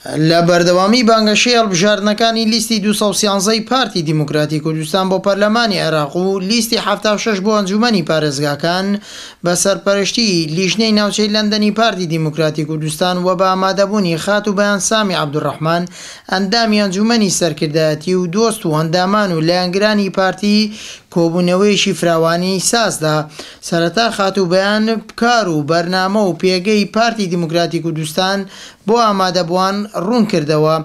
لە بەردەوامی بانگەشەی هەڵبژاردنەکانی لیستی 213 ی پارتی دیموکراتی کوردستان بۆ پەرلەمانی عێراق و لیستی 76 بۆ ئەنجوومەنی پارێزگاکان بە سەرپەرشتیی لیژنەی ناوچەی لەندەنی پارتی دیموکراتی کوردستان و بە ئامادەبوونی خاتوو بەیان سامی عەبدولڕەحمان ئەندامی ئەنجوومەنی سەرکردایەتی و دۆست و ئەندامان و لایەنگرانی پارتی کۆبوونەوەیەکی فراوانی سازدا. سەرەتا خاتوو بەیان کار و بەرنامە و پێگەی پارتی دیموکراتی کوردستان بۆ ئامادەبووان ڕوونکردەوە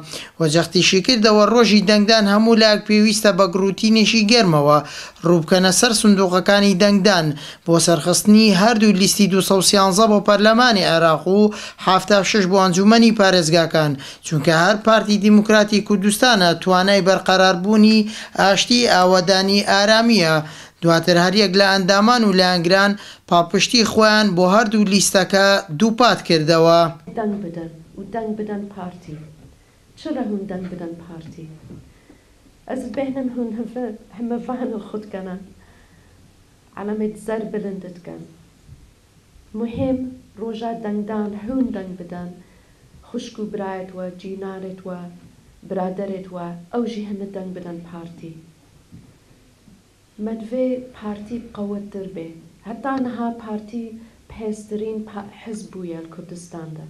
و جەختیشیکردەوە ڕۆژی دەنگدان هەموو لایەک پێویستە بە گڕوتینێکی گەرمەوە ڕووبکەنە سەر سندوقەکانی دەنگدان بۆ سەرخستنی هەردوو لیستی 213 بۆ پەرلەمانی عێراق و 76 بۆ ئەنجوومەنی پارێزگاکان چونکە هەر پارتی دیموکراتی کوردستانە توانای بەرقەراربوونی ئاشتی ئاوەدانی ئارامییە. دواتر هەریەک لە ئەندامان و لایەنگران پاڵپشتی خۆیان بۆ هەردوو لیستەکە دووپات کردەوە. دەنگ بدەن و دەنگ بدەن پارتی چرا هون دەنگ بدەن پارتی ئەز بهنم هون هەمەڤان و خودکەنە عەلەمێت زەر بلندت کەن مهم ڕۆژا دەنگدان هون دەنگ بدەن خوشک و برایت و جینارت و برادەرت و ئەوژی هەمە دەنگ بدەن پارتی مەدڤێ پارتی بقەوەتتر بێ هەتا نها پارتی بەهێزترین حزب بوویە کوردستاندا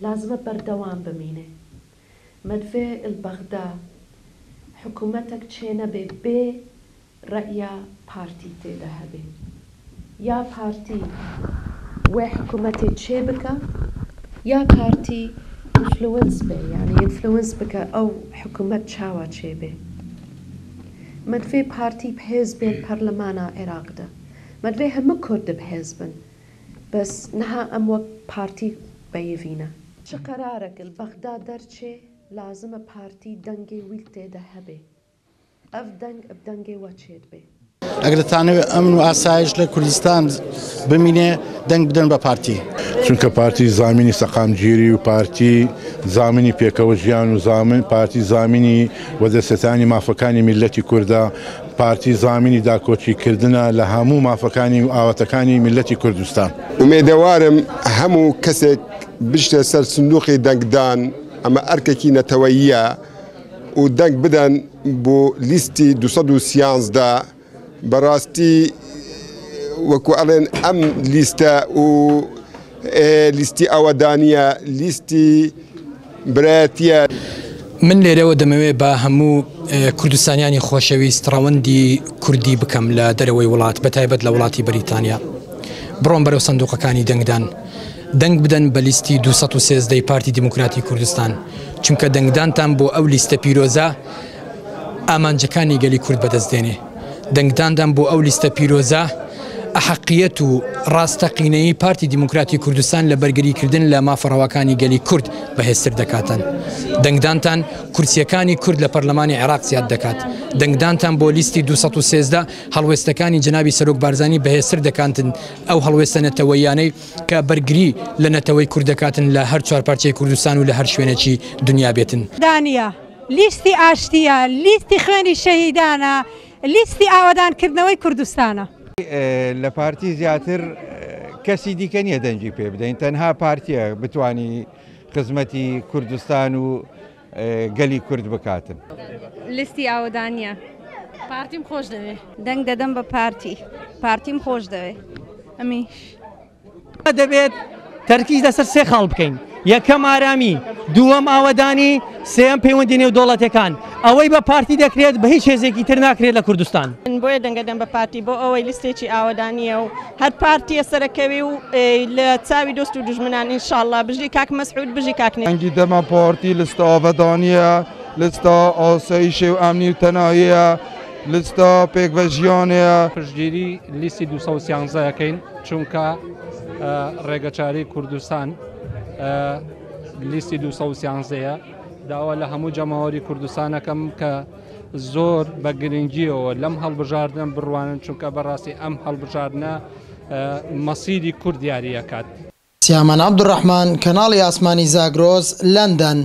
لازمە بەردەوام بمینێ مەدڤێ البەغدا حکوومەتێک چێ نەبێ بێ ڕەئیا پارتی تێدا هەبێ یا پارتی وێ حکوومەتێ چێ بکە یا پارتی influence بێ یعنی influence بکە ئەو حکوومەت چاوا چێ بێ. مەدڤێ پارتی بەهێز بێت پەرلەمانا عێراقدا مەدڤێ هەموو کورد بەهێز بن بەس نها ئەم وەک پارتی بەیڤینە. چ قەرارێک بەغدا دەرچێ لازمە پارتی دەنگێ ویل تێدا هەبێ ئەف دەنگ ئەب دەنگێ وەچێت بێ. ئەگەر دەتانەوێت ئەمن و ئاسایش لە کوردستان بمینێ دەنگ بدەن بە پارتی. چونکە پارتی زامینی سەقامگیری و پارتی زامینی پێکەوە ژیان و زامن پارتی زامینی وەدەستێتانی مافەکانی میللەتی کوردە، پارتی زامینی داکۆکیکردنە لە هەموو مافەکانی و ئاواتەکانی میللەتی کوردستان. ئومێدەوارم هەموو کەسێک بچتە سەر سندوقی دەنگدان، ئەمە ئەرکێکی نەتەوەییە و دەنگ بدەن بۆ لیستی 213. بەڕاستی وەکو ئەڵێن ئەم لیستە و لیستی ئاوەدانیە، لیستی برایەتیە. من لێرەوە دەمەوێت بە هەموو کوردستانیانی خۆشەویست ڕەوەندی کوردی بکەم لە دەرەوەی وڵات، بە تایبەت لە وڵاتی بەریتانیا. بڕۆن بەرەو سندوقەکانی دەنگدان، دەنگ بدەن بە لیستی 213 پارتی دیموکراتی کوردستان، چونکە دەنگدانتان بۆ ئەو لیستە پیرۆزە ئامانجەکانی گەلی کورد بەدەست دێنێ. دەنگداندان بۆ ئەو لیستە پیرۆزە ئەحەقیەت و ڕاستەقینەیی پارتی دیموکراتی کوردستان لە بەرگریکردن لە مافە ڕەواکانی گەلی کورد بەهێزتر دەکاتن. دەنگدانتان کورسیەکانی کورد لە پەرلەمانی عێراق زیاد دەکات. دەنگدانتان بۆ لیستی 213 هەڵوێستەکانی جەنابی سەرۆک بارزانی بەهێزتر دەکاتن، ئەو هەڵوێستە نەتەوەییانەی کە بەرگری لە نەتەوەی کورد دەکاتن لە هەر چوار پارچەی کوردستان و لە هەر شوێنێکی دنیا بێتن. دانیە لیستی ئاشتیە، لیستی خوێنی شەهیدانە، لیستی ئاوەدانکردنەوەی کوردستانە. لە پارتی زیاتر کەسی دیکە نییە دەنگی پێ بدەین، تەنها پارتیە بتانی خزمەتی کوردستان و گەلی کورد بکاتن. لیستی ئاوەدانیە. پارتیم خۆش دەوێ. دەنگ دەدەم بە پارتی، پارتیم خۆش دەوێ. ئەمیش دەبێت تەرکیز لەسەر سێ خاڵ بکەین، یەکەم ئارامی، دووەم ئاوەدانی، سێیەم پەیوەندی نێودەوڵەتەکان. ئەوەی بە پارتی دەکرێت بە هیچ هێزێکی تر ناکرێت لە کوردستان. بۆیە دەنگەدەم بە پارتی بۆ ئەوەی لیستێکی ئاوەدانیە و هەر پارتیە سەرەکەوی و لە چاوی دۆست و دوژمنان ئینشاءاللە. بژی کاک مەسعود، بژی کاک نێ. دەنگی دەمە پارتی لیستە ئاوەدانیە، لیستە ئاسایشێ و ئەمنی و تەناهیە، لیستە پێکڤە ژیانەیە. پشتگیری لیستی 213 ئەکەین چونکە ڕێگەچارەی کوردستان لیستی 213ەیە. داوا لە هەموو جەماوەری کوردستانەکەم کە زۆر بە گرنگیەوە لەم هەڵبژاردنە بڕوانن، چونکە بەڕاستی ئەم هەڵبژاردنە مەسیری کورد دیاریەکات. سیامان عەبدولڕەحمان، کەناڵی ئاسمانی زاگرۆس، لەندەن.